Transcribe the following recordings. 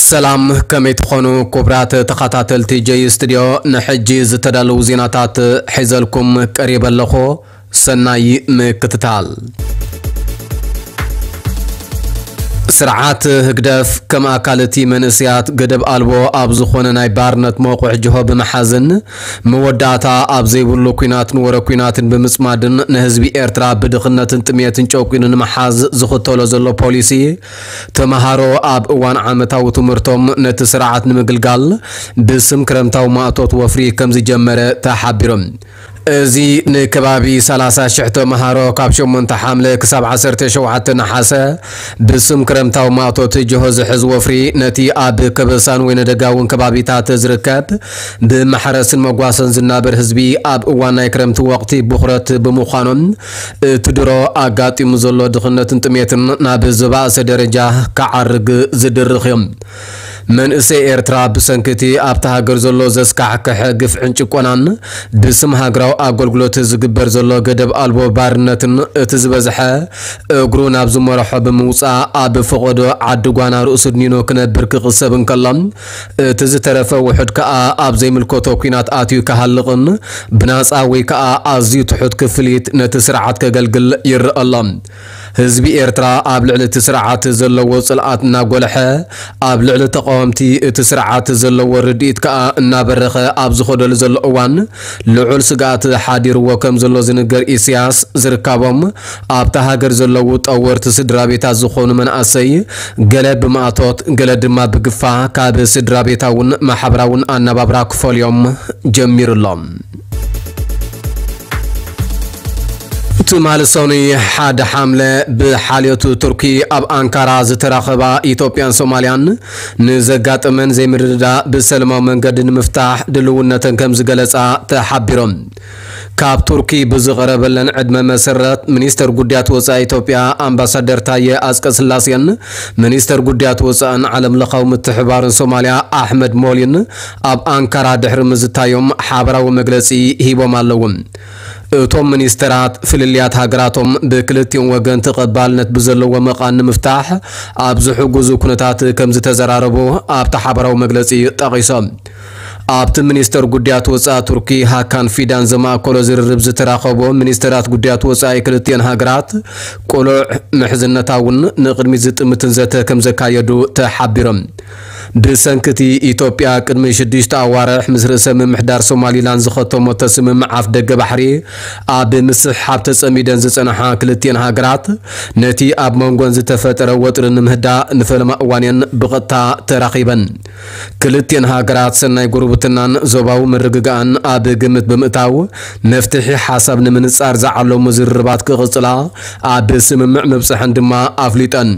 ሰላም፣ ከመይ ትኾኑ ክቡራት ተኸታተልቲ ጀይ ስቱድዮ? ንሕጂ ዝተዳለዉ ዜናታት ሒዘልኩም ቀሪበ ኣለኹ። ሰናይ ምክትታል። ስርዓት ህግደፍ ከም ኣካል እቲ መንእሰያት ገደብ ኣልቦ ኣብ ዝኾነ ናይ ባርነት መቑሕ ጅሆ ብምሓዝን መወዳእታ ኣብ ዘይብሉ ኲናትን ወረ ኲናትን ብምጽማድን ንህዝቢ ኤርትራ ብድኽነትን ጥሜትን ጨቂኑ ንምሓዝ ዝኽተሎ ዘሎ ፖሊሲ፣ ተመሃሮ ኣብ እዋን ዓመታዊ ትምህርቶም ነቲ ስርዓት ንምግልጋል ብስም ክረምታዊ ማእቶት ወፍሪ ከም ዝጀመረ ተሓቢሩ። እዚ ንከባቢ ሰላሳ ሽሕ ተመሃሮ ካብ ሸሞንተ ሓምለ ክሳብ ዓሰርተ ሸውዓተ ነሓሰ ብስም ክረምታዊ ማእቶት ጅሆ ዝሕዝ ወፍሪ፣ ነቲ ኣብ ከበሳን ወይነ ደጋውን ከባቢታት ዝርከብ ብማሕረስን መጓሰን ዝናበር ህዝቢ፣ ኣብ እዋን ናይ ክረምቲ ወቕቲ ብኹረት ብምዃኖም፣ እቲ ድሮ ኣጋጢሙ ዘሎ ድኽነትን ጥሜትን ናብ ዝበኣሰ ደረጃ ክዓርግ ዝድርኽ እዩ። መንእሰይ ኤርትራ ብሰንኪ እቲ ኣብታ ሃገር ዘሎ ዘስካሕክሐ ግፍዕን ጭቆናን፣ ብስም ሃገራዊ ኣገልግሎት ዝግበር ዘሎ ገደብ ኣልቦ ባርነትን፣ እቲ ዝበዝሐ እግሩ ናብ ዝመርሖ ብምውጻእ፣ ኣብ ፈቐዶ ዓዲ ጓና ርእሱ ድኒኑ ክነብር ክቕሰብ እንከሎ፣ እቲ ዝተረፈ ውሑድ ከኣ ኣብ ዘይምልከቶ ኲናት ኣትዩ ክሃልቕን ብናጻ ወይ ከኣ ኣዝዩ ትሑት ክፍሊት ነቲ ስርዓት ከገልግል ይረአ ኣሎ። ህዝቢ ኤርትራ ኣብ ልዕሊ እቲ ስርዓት ዘለዎ ጽልኣት እናጎልሐ፣ ኣብ ልዕሊ ተቃወምቲ እቲ ስርዓት ዘለዎ ርድኢት ከኣ እናበረኸ ኣብ ዝኸደሉ ዘሎ እዋን፣ ልዑል ስግኣት ሓዲርዎ ከም ዘሎ ዝንገር ኢሳያስ፣ ዝርካቦም ኣብታ ሃገር ዘለዉ ጠወርቲ ስድራ ቤታት ዝኾኑ መናእሰይ፣ ገለ ብማእቶት፣ ገለ ድማ ብግፋ ካብ ስድራ ቤታውን ማሕበራውን ኣነባብራ ክፈልዮም ጀሚሩ ኣሎ። ትማሊ ሰኑይ ሓደ ሓምለ ብሓልዮት ቱርኪ ኣብ ኣንካራ ዝተራኸባ ኢትዮጵያን ሶማልያን፣ ንዘጋጠመን ዘይምርድዳእ ብሰላማዊ መንገዲ ንምፍታሕ ድልውነተን ከም ዝገለጻ ተሓቢሮም። ካብ ቱርኪ ብዝቐረበለን ዕድመ መሰረት፣ ሚኒስተር ጉዳያት ወጻኢ ኢትዮጵያ ኣምባሳደር ታየ ኣጽቀስላሴን ሚኒስተር ጉዳያት ወጻእን ዓለም ለኻዊ ምትሕብባርን ሶማልያ ኣሕመድ ሞሊን ኣብ ኣንካራ ድሕሪ ምዝታዮም ሓበራዊ መግለጺ ሂቦም ኣለዉ። እቶም ሚኒስተራት፣ ፍልልያት ሃገራቶም ብክልቲኦም ወገን ተቐባልነት ብዘለዎ መቓን ንምፍታሕ ኣብ ዝሕግዙ ኩነታት ከም ዝተዘራረቡ ኣብቲ ሓበራዊ መግለጺ ጠቒሶም። ኣብቲ ሚኒስተር ጉዳያት ወጻኢ ቱርኪ ሃካን ፊዳን ዘማእከሎ ዝርርብ ዝተራኸቡ ሚኒስተራት ጉዳያት ወጻኢ ክልቲኤን ሃገራት፣ ቅሉዕ፣ ምሕዝነታውን ንቕድሚት ዝጥምትን ዘተ ከም ዘካየዱ ተሓቢሮም። ብሰንኪ እቲ ኢትዮጵያ ቅድሚ ሽዱሽተ ኣዋርሕ ምስ ርእሰ ምምሕዳር ሶማሊላንድ ዝኸተመቶ ስምምዕ ኣፍ ደገ ባሕሪ ኣብ ምስሕሓብ ተጸሚደን ዝጸንሓ ክልቲኤን ሃገራት፣ ነቲ ኣብ መንጎን ዝተፈጠረ ወጥሪ ንምህዳእ ንፈለማ እዋን እየን ብቐጥታ ተራኺበን። ክልቲኤን ሃገራት ሰናይ ጉርብትናን ዞባዊ ምርግጋእን ኣብ ግምት ብምእታው፣ መፍትሒ ሓሳብ ንምንጻር ዝዓለሙ ዝርርባት ክቕጽላ ኣብ ስምምዕ ምብጽሐን ድማ ኣፍሊጠን።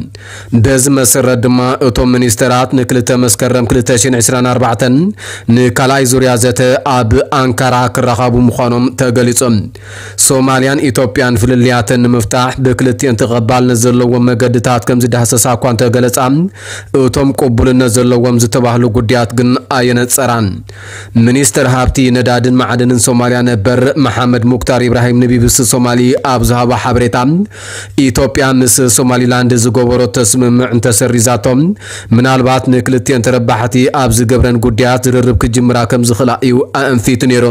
በዚ መሰረት ድማ እቶም ሚኒስተራት ንክልተ መስከረም ክልተ ሽሕን ዕስራን ኣርባዕተን ንካልኣይ ዙርያ ዘተ ኣብ ኣንካራ ክራኸቡ ምዃኖም ተገሊጹ። ሶማልያን ኢትዮጵያን ፍልልያተን ንምፍታሕ ብክልቲኤን ተቐባልነት ዘለዎም መገድታት ከም ዝዳህሰሳ እኳ እንተገለጻ፣ እቶም ቅቡልነት ዘለዎም ዝተባህሉ ጉዳያት ግን ኣየነጸራን። ሚኒስተር ሃብቲ ነዳድን ማዕድንን ሶማልያ ነበር መሓመድ ሙክታር ኢብራሂም ንቢቢሲ ሶማሊ ኣብ ዝሃቦ ሓበሬታ፣ ኢትዮጵያ ምስ ሶማሊላንድ ዝገበረቶ ስምምዕ እንተሰሪዛቶ፣ ምናልባት ንክልቲኤን ተረባሕቲ ኣብ ዝገብረን ጉዳያት ዝርርብ ክጅምራ ከም ዝኽእላ እዩ ኣእንፊቱ ነይሩ።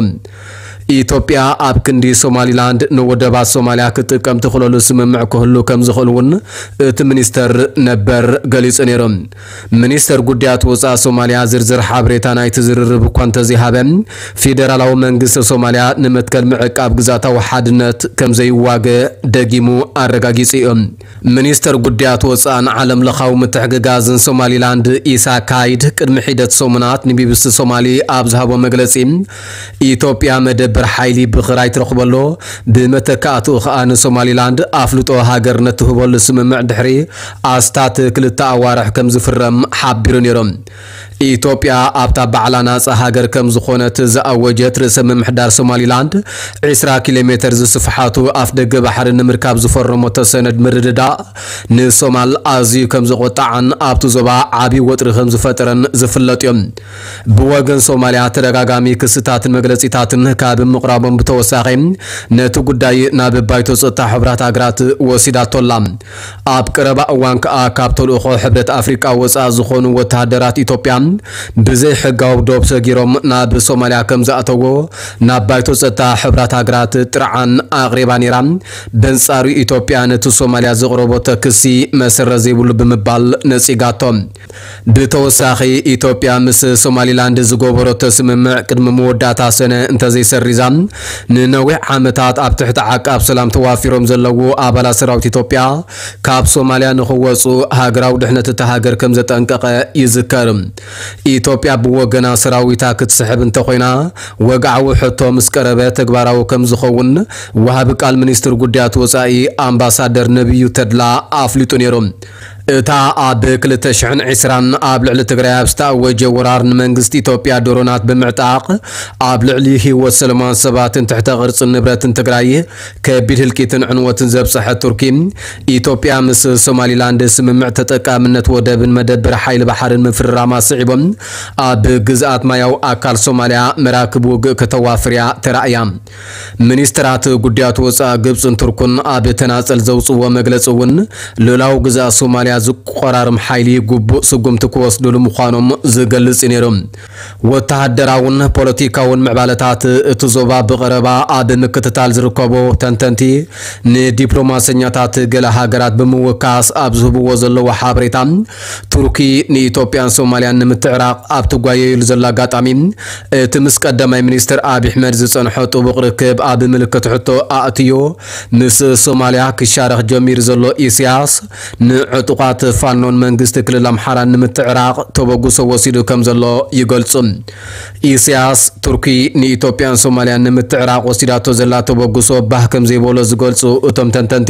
ኢትዮጵያ ኣብ ክንዲ ሶማሊላንድ ንወደባት ሶማልያ ክትጥቀም ትኽእለሉ ስምምዕ ክህሉ ከም ዝኽእል እውን እቲ ሚኒስተር ነበር ገሊጹ ነይሩ። ሚኒስተር ጉዳያት ወጻኢ ሶማልያ ዝርዝር ሓበሬታ ናይቲ ዝርርብ እኳ እንተዘይሃበ፣ ፌደራላዊ መንግስቲ ሶማልያ ንመትከል ምዕቃብ ግዝኣታዊ ሓድነት ከም ዘይዋገ ደጊሙ ኣረጋጊጹ እዩ። ሚኒስተር ጉዳያት ወጻእን ዓለም ለኻዊ ምትሕግጋዝን ሶማሊላንድ ኢሳ ካይድ ቅድሚ ሒደት ሰሙናት ንቢቢሲ ሶማሊ ኣብ ዝሃቦ መግለጺ፣ ኢትዮጵያ መደበር ሓይሊ ብኽራይ ትረኽበሉ፣ ብመተካእትኡ ኸኣ ንሶማሊላንድ ኣፍልጦ ሃገርነት ትህበሉ ስምምዕ ድሕሪ ኣስታት ክልተ ኣዋርሕ ከም ዝፍረም ሓቢሩ ነይሩ። ኢትዮጵያ ኣብታ ባዕላ ናጻ ሃገር ከም ዝኾነት ዝኣወጀት ርእሰ ምምሕዳር ሶማሊላንድ፣ ዕስራ ኪሎ ሜተር ዝስፍሓቱ ኣፍ ደገ ባሕሪ ንምርካብ ዝፈረመቶ ሰነድ ምርድዳእ ንሶማል ኣዝዩ ከም ዘቖጣዓን ኣብቲ ዞባ ዓቢ ወጥሪ ከም ዝፈጠረን ዝፍለጥ እዩ። ብወገን ሶማልያ ተደጋጋሚ ክስታትን መግለጺታትን ካብ ምቕራቦም ብተወሳኺ፣ ነቲ ጉዳይ ናብ ባይቶ ጸጥታ ሕቡራት ሃገራት ወሲዳቶ ኣላ። ኣብ ቀረባ እዋን ከኣ ካብ ተልእኾ ሕብረት ኣፍሪቃ ወጻኢ ዝኾኑ ወተሃደራት ኢትዮጵያ ብዘይ ሕጋዊ ዶብ ሰጊሮም ናብ ሶማልያ ከም ዝኣተዎ ናብ ባይቶ ጸጥታ ሕብራት ሃገራት ጥርዓን ኣቕሪባ ነይራ። በንጻሩ ኢትዮጵያ ነቲ ሶማልያ ዘቕረበቶ ክሲ መሰረት ዘይብሉ ብምባል ነጺጋቶ። ብተወሳኺ ኢትዮጵያ ምስ ሶማሊላንድ ዝገበረቶ ስምምዕ ቅድሚ መወዳእታ ሰነ እንተዘይሰሪዛ ንነዊሕ ዓመታት ኣብ ትሕቲ ዓቃብ ሰላም ተዋፊሮም ዘለዉ ኣባላት ሰራዊት ኢትዮጵያ ካብ ሶማልያ ንኽወጹ ሃገራዊ ድሕነት እታ ሃገር ከም ዘጠንቀቐ ይዝከር። ኢትዮጵያ ብወገና ሰራዊታ ክትስሕብ እንተኾይና ወግዓዊ ሕቶ ምስ ቀረበ ተግባራዊ ከም ዝኸውን ወሃቢ ቃል ሚኒስትር ጉዳያት ወጻኢ ኣምባሳደር ነቢዩ ተድላ ኣፍሊጡ ነይሩ። እታ ኣብ ክልተ ሽሕን ዕስራን ኣብ ልዕሊ ትግራይ ኣብ ዝተኣወጀ ወራር ንመንግስቲ ኢትዮጵያ ድሮናት ብምዕጣቕ ኣብ ልዕሊ ህይወት ሰለማውያን ሰባትን ትሕተ ቅርጽን ንብረትን ትግራይ ከቢድ ህልቂትን ዕንወትን ዘብጽሐት ቱርኪ፣ ኢትዮጵያ ምስ ሶማሊላንድ ስምምዕ ተጠቃምነት ወደብን መደበር ሓይሊ ባሕርን ምፍርራማ ስዒቦም ኣብ ግዝኣት ማያዊ ኣካል ሶማልያ መራክብ ውግእ ከተዋፍርያ ተራእያ። ሚኒስትራት ጉዳያት ወጻኢ ግብጽን ቱርኩን ኣብ ተናጸል ዘውጽዎ መግለጺ እውን፣ ልኡላዊ ግዝኣት ሶማልያ ዝቆራርም ሓይሊ ግቡእ ስጉምቲ ክወስዱሉ ምዃኖም ዝገልጽ እዩ ነይሩ። ወተሃደራውን ፖለቲካውን ምዕባለታት እቲ ዞባ ብቐረባ ኣብ ምክትታል ዝርከቡ ተንተንቲ፣ ንዲፕሎማሰኛታት ገለ ሃገራት ብምውካስ ኣብ ዝህብዎ ዘለዉ ሓበሬታ፣ ቱርኪ ንኢትዮጵያን ሶማልያን ንምትዕራቕ ኣብ ትጓየየሉ ዘላ ኣጋጣሚ፣ እቲ ምስ ቀዳማይ ሚኒስትር ኣብይ ኣሕመድ ዝጸንሖ ጥቡቕ ርክብ ኣብ ምልክት ሕቶ ኣእትዮ፣ ምስ ሶማልያ ክሻረኽ ጀሚሩ ዘሎ ኢሳያስ፣ ንዕጡቓት ፋኖን መንግስቲ ክልል ኣምሓራን ንምትዕራቕ ተበግሶ ወሲዱ ከም ዘሎ ይገልጹ። ኢሳያስ፣ ቱርኪ ንኢትዮጵያን ሶማልያን ንምትዕራቕ ወሲዳቶ ዘላ ተበግሶ ባህ ከም ዘይበሎ ዝገልጹ እቶም ተንተንቲ፣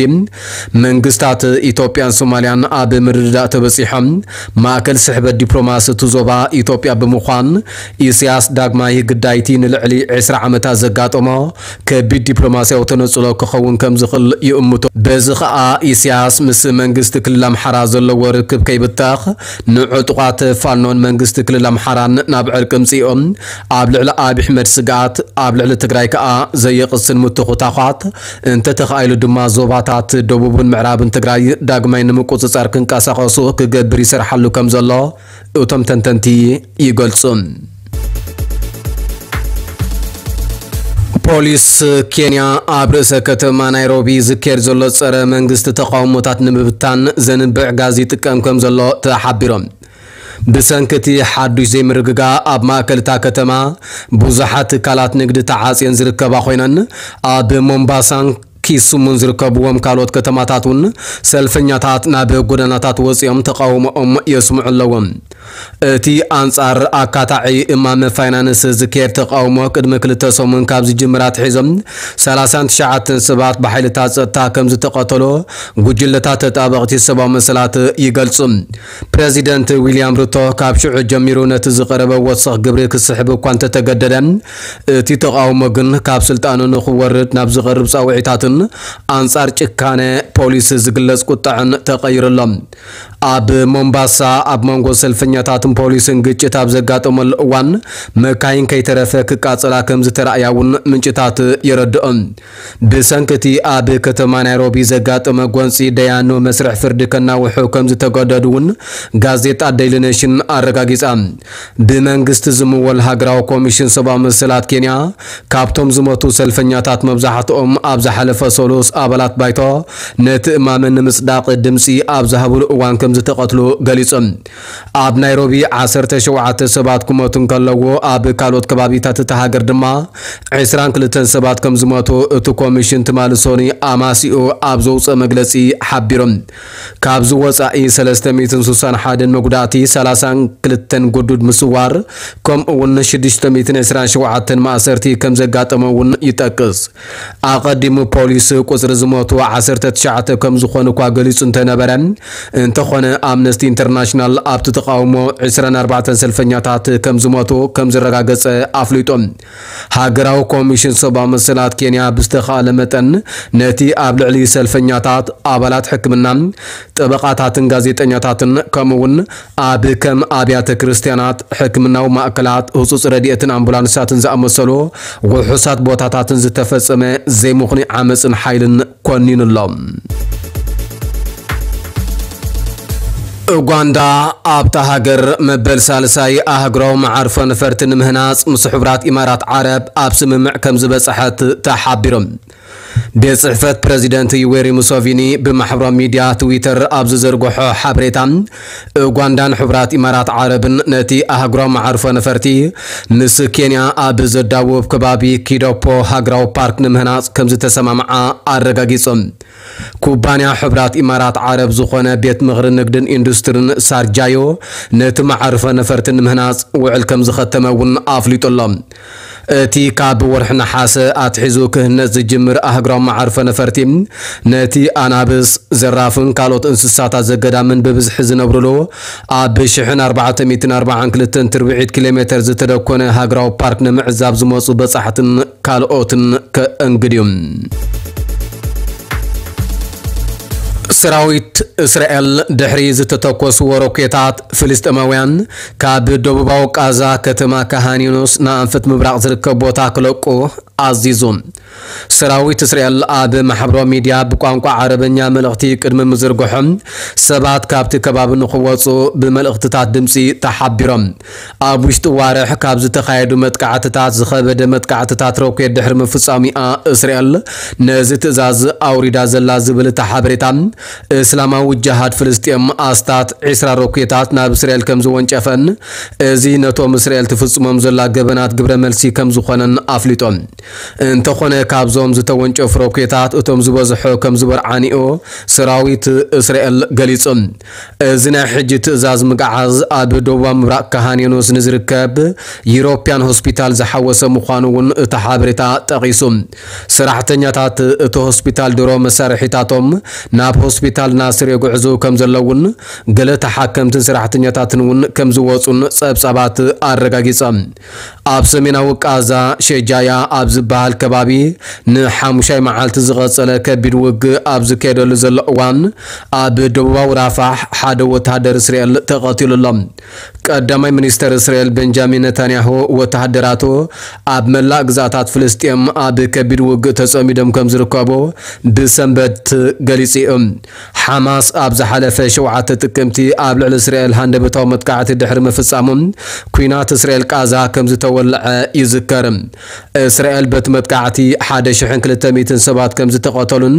መንግስታት ኢትዮጵያን ሶማልያን ኣብ ምርድዳእ ተበጺሖም፣ ማእከል ስሕበት ዲፕሎማሲ እቲ ዞባ ኢትዮጵያ ብምዃን፣ ኢሳያስ ዳግማይ ግዳይቲ ንልዕሊ ዕስራ ዓመታት ዘጋጠሞ ከቢድ ዲፕሎማስያዊ ተነጽሎ ክኸውን ከም ዝኽእል ይእምቶ። በዚ ኸኣ ኢሳያስ ምስ መንግስቲ ክልል ኣምሓራ ዘለዎ ርክብ ከይብተኽ፣ ንዕጡቓት ፋኖን መንግስቲ ክልል ኣምሓራን ናብ ዕርቂ ምጽኦም፣ ኣብ ልዕሊ ኣብይ ኣሕመድ ስግኣት፣ ኣብ ልዕሊ ትግራይ ከኣ ዘየቕስን ምትኹታዃት፣ እንተተኻኢሉ ድማ ዞባታት ደቡብን ምዕራብን ትግራይ ዳግማይ ንምቁጽጻር ክንቀሳቐሱ ክገብር ይሰርሓሉ ከም ዘሎ እቶም ተንተንቲ ይገልጹ። ፖሊስ ኬንያ ኣብ ርእሰ ከተማ ናይሮቢ ዝካየድ ዘሎ ጸረ መንግስቲ ተቃውሞታት ንምብታን ዘንብዕ ጋዝ ይጥቀም ከም ዘሎ ተሓቢሮም። ብሰንኪ እቲ ሓዱሽ ዘይምርግጋእ ኣብ ማእከል እታ ከተማ ብዙሓት ትካላት ንግዲ ተዓጽየን ዝርከባ ኮይነን፣ ኣብ ሞምባሳን ኪሱሙን ዝርከብዎም ካልኦት ከተማታት እውን ሰልፈኛታት ናብ ጎደናታት ወጺኦም ተቃውሞኦም የስምዑ ኣለዉ። እቲ ኣንጻር ኣካታዒ እማመ ፋይናንስ ዝካየድ ተቃውሞ ቅድሚ ክልተ ሰሙን ካብ ዝጅምር ኣትሒዞም ሰላሳን ትሽዓተን ሰባት ብሓይልታት ጸጥታ ከም ዝተቐተሉ ጉጅለታት ተጣበቕቲ ሰብኣዊ መሰላት ይገልጹ። ፕረዚደንት ዊልያም ሩቶ ካብ ሽዑ ጀሚሩ ነቲ ዝቐረበ ወሰኽ ግብሪ ክስሕብ እኳ እንተተገደደ፣ እቲ ተቃውሞ ግን ካብ ስልጣኑ ንኽወርድ ናብ ዝቐርብ ጻውዒታትን ኣንጻር ጭካነ ፖሊስ ዝግለጽ ቁጥዐን ተቐይሩ ኣሎ። ኣብ ሞምባሳ ኣብ መንጎ ሰልፈኛታትን ፖሊስን ግጭት ኣብ ዘጋጠመሉ እዋን፣ መካይን ከይተረፈ ክቃጸላ ከም ዝተራእያ እውን ምንጭታት የረድኦም። ብሰንኪ እቲ ኣብ ከተማ ናይሮቢ ዘጋጠመ ጎንጺ ደያኑ መስርሕ ፍርዲ ከናውሑ ከም ዝተገደዱ እውን ጋዜጣ ዴይሊ ኔሽን ኣረጋጊጻ። ብመንግስቲ ዝምወል ሃገራዊ ኮሚሽን ሰብኣዊ መሰላት ኬንያ፣ ካብቶም ዝሞቱ ሰልፈኛታት መብዛሕትኦም ኣብ ዝሓለፈ ሰሉስ ኣባላት ባይቶ ነቲ እማመ ንምጽዳቕ ድምጺ ኣብ ዝሃብሉ እዋን ከም ዝተቐትሉ ገሊጹ። ኣብ ናይሮቢ ዓሰርተ ሸውዓተ ሰባት ክሞቱ እንከለዉ፣ ኣብ ካልኦት ከባቢታት እታ ሃገር ድማ ዕስራን ክልተን ሰባት ከም ዝሞቱ እቲ ኮሚሽን ትማሊ ሰኑይ ኣማሲኡ ኣብ ዘውፅኦ መግለፂ ሓቢሩ። ካብዚ ወፃኢ ሰለስተ ሚእትን ስሳን ሓደን መጉዳእቲ፣ ሰላሳን ክልተን ግዱድ ምስዋር፣ ከምኡ እውን ሽዱሽተ ሚእትን ዕስራን ሸውዓተን ማእሰርቲ ከም ዘጋጠመ እውን ይጠቅስ። ኣቐዲሙ ፖሊስ ቁፅሪ ዝሞቱ ዓሰርተ ትሽዓተ ከም ዝኾኑ እኳ ገሊፁ እንተነበረ፣ እንተኾነ ኣምነስቲ ኢንተርናሽናል ኣብቲ ተቓውሞ ዕስራን ኣርባዕተን ሰልፈኛታት ከም ዝሞቱ ከም ዘረጋገጸ ኣፍሊጡ። ሃገራዊ ኮሚሽን ሰብኣዊ መሰላት ኬንያ ብዝተኻእለ መጠን ነቲ ኣብ ልዕሊ ሰልፈኛታት፣ ኣባላት ሕክምና፣ ጠበቓታትን ጋዜጠኛታትን ከምኡውን ኣብ ከም ኣብያተ ክርስቲያናት፣ ሕክምናዊ ማእከላት፣ ህጹጽ ረድኤትን ኣምቡላንሳትን ዝኣመሰሉ ውሑሳት ቦታታትን ዝተፈጸመ ዘይምኽኑይ ዓመጽን ሓይልን ኮኒኑ ኣሎ። ኡጋንዳ ኣብታ ሃገር መበል ሳልሳይ ኣህጉራዊ መዓርፎ ነፈርቲ ንምህናጽ ምስ ሕቡራት ኢማራት ዓረብ ኣብ ስምምዕ ከም ዝበጽሐት ተሓቢሩ። ቤት ጽሕፈት ፕረዚደንት ዩዌሪ ሙሶቪኒ ብማሕበራዊ ሚድያ ትዊተር ኣብ ዝዘርግሖ ሓበሬታ፣ ኡጋንዳን ሕቡራት ኢማራት ዓረብን ነቲ ኣህጉራዊ መዓርፎ ነፈርቲ ምስ ኬንያ ኣብ ዘዳውብ ከባቢ ኪዶፖ ሃገራዊ ፓርክ ንምህናጽ ከም ዝተሰማምዓ ኣረጋጊጹ። ኩባንያ ሕቡራት ኢማራት ዓረብ ዝኾነ ቤት ምኽሪ ንግድን ኢንዱስትሪን ሳርጃዮ ነቲ መዓርፎ ነፈርቲ ንምህናጽ ውዕል ከም ዝኸተመ እውን ኣፍሊጡ ኣሎ። እቲ ካብ ወርሒ ነሓሰ ኣትሒዙ ክህነጽ ዝጅምር ኣህጉራዊ መዓርፎ ነፈርቲ ነቲ ኣናብስ፣ ዘራፍን ካልኦት እንስሳታት ዘገዳምን ብብዝሒ ዝነብሩሉ ኣብ ሽሕን ኣርባዕተ ሚእትን ኣርባዓን ክልተን ትርብዒት ኪሎ ሜተር ዝተደኮነ ሃገራዊ ፓርክ ንምዕዛብ ዝመጹ በጻሕትን ካልኦትን ከእንግድ እዩ። ሰራዊት እስራኤል ድሕሪ ዝተተኮስዎ ሮኬታት ፍልስጤማውያን ካብ ደቡባዊ ቃዛ ከተማ ካሃን ዩኑስ ንኣንፈት ምብራቕ ዝርከብ ቦታ ክለቁ ኣዚዙ። ሰራዊት እስራኤል ኣብ ማሕበራዊ ሚድያ ብቋንቋ ዓረበኛ መልእኽቲ ቅድሚ ምዝርግሖም ሰባት ካብቲ ከባቢ ንኽወፁ ብመልእኽትታት ድምፂ ተሓቢሮም። ኣብ ውሽጢ ዋርሕ ካብ ዝተኻየዱ መጥቃዕትታት ዝኸበደ መጥቃዕትታት ሮኬት ድሕሪ ምፍጻሙ እያ እስራኤል ነዚ ትእዛዝ ኣውሪዳ ዘላ ዝብል እቲ ሓበሬታ። እስላማዊ ጅሃድ ፍልስጤም ኣስታት ዒስራ ሮኬታት ናብ እስራኤል ከም ዝወንጨፈን እዚ ነቶም እስራኤል ትፍጽሞም ዘላ ገበናት ግብረ መልሲ ከም ዝኾነን ኣፍሊጦም። እንተኾነ ካብዞም ዝተወንጨፉ ሮኬታት እቶም ዝበዝሑ ከም ዝበርዓንኡ ሰራዊት እስራኤል ገሊጹ። እዚ ናይ ሕጂ ትእዛዝ ምግዓዝ ኣብ ደቡባዊ ምብራቕ ካሃን ዮኑስ ንዝርከብ ዩሮፕያን ሆስፒታል ዝሓወሰ ምዃኑ እውን እቲ ሓበሬታ ጠቒሱ። ሰራሕተኛታት እቲ ሆስፒታል ድሮ መሳርሒታቶም ናብ ሆስፒታል ናስር የጉዕዙ ከም ዘለውን ገለ ተሓከምትን ሰራሕተኛታትን እውን ከም ዝወፁን ጸብጻባት ኣረጋጊጾም። ኣብ ሰሜናዊ ቃዛ ሸጃያ ኣብ ዝበሃል ከባቢ ንሓሙሻይ መዓልቲ ዝቐጸለ ከቢድ ውግእ ኣብ ዝካየደሉ ዘሎ እዋን ኣብ ደቡባዊ ራፋሕ ሓደ ወተሃደር እስራኤል ተቐቲሉ ኣሎ። ቀዳማይ ሚኒስተር እስራኤል ቤንጃሚን ነታንያሁ ወተሃደራቱ ኣብ መላእ ግዛታት ፍልስጤም ኣብ ከቢድ ውግእ ተጸሚዶም ከም ዝርከቡ ብሰንበት ገሊጹ እዩ። ሓማስ ኣብ ዝሓለፈ ሸውዓተ ጥቅምቲ ኣብ ልዕሊ እስራኤል ሃንደበታዊ መጥቃዕቲ ድሕሪ ምፍጻሙ ኲናት እስራኤል ቃዛ ከም ዝተወልዐ ይዝከር። እስራኤል በቲ መጥቃዕቲ ሓደ ሽሕን ክልተ ሚእትን ሰባት ከም ዝተቐተሉን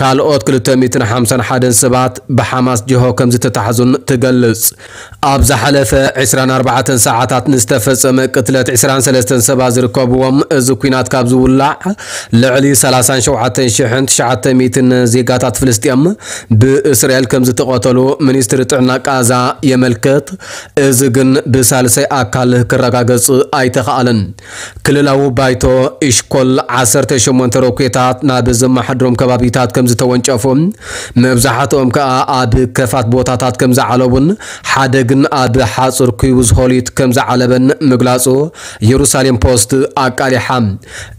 ካልኦት ክልተ ሚእትን ሓምሳን ሓደን ሰባት ብሓማስ ጅሆ ከም ዝተታሕዙን ትገልጽ። ኣብ ዝሓለፈ ዕስራን ኣርባዕተን ሰዓታት ንዝተፈጸመ ቅትለት ዕስራን ሰለስተን ሰባት ዝርከብዎም፣ እዚ ኲናት ካብ ዝውላዕ ልዕሊ ሰላሳን ሸውዓተን ሽሕን ትሽዓተ ሚእትን ዜጋታት ፍልስጤም ብእስራኤል ከም ዝተቐተሉ ሚኒስትሪ ጥዕና ቃዛ የመልክት። እዚ ግን ብሳልሳይ ኣካል ክረጋገጽ ኣይተኻእለን። ክልላዊ ባይቶ ኢሽኮል ዓሰርተ ሸሞንተ ሮኬታት ናብ ዘመሓድሮም ከባቢታት ከም ዝተወንጨፉ፣ መብዛሕትኦም ከኣ ኣብ ከፋት ቦታታት ከም ዝዓለቡን ሓደ ግን ኣብ ሓጹር ኪቡዝ ሆሊት ከም ዝዓለበን ምግላጹ የሩሳሌም ፖስት ኣቃሊሓ።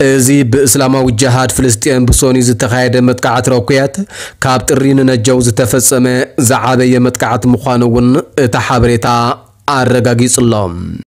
እዚ ብእስላማዊ ጅሃድ ፍልስጤም ብሶኒ ዝተኻየደ መጥቃዕቲ ሮኬት ካብ ጥሪ ንነጀው ዝተፈጸመ ዝዓበየ መጥቃዕቲ ምዃኑ እውን እቲ ሓበሬታ ኣረጋጊጹ ኣሎ።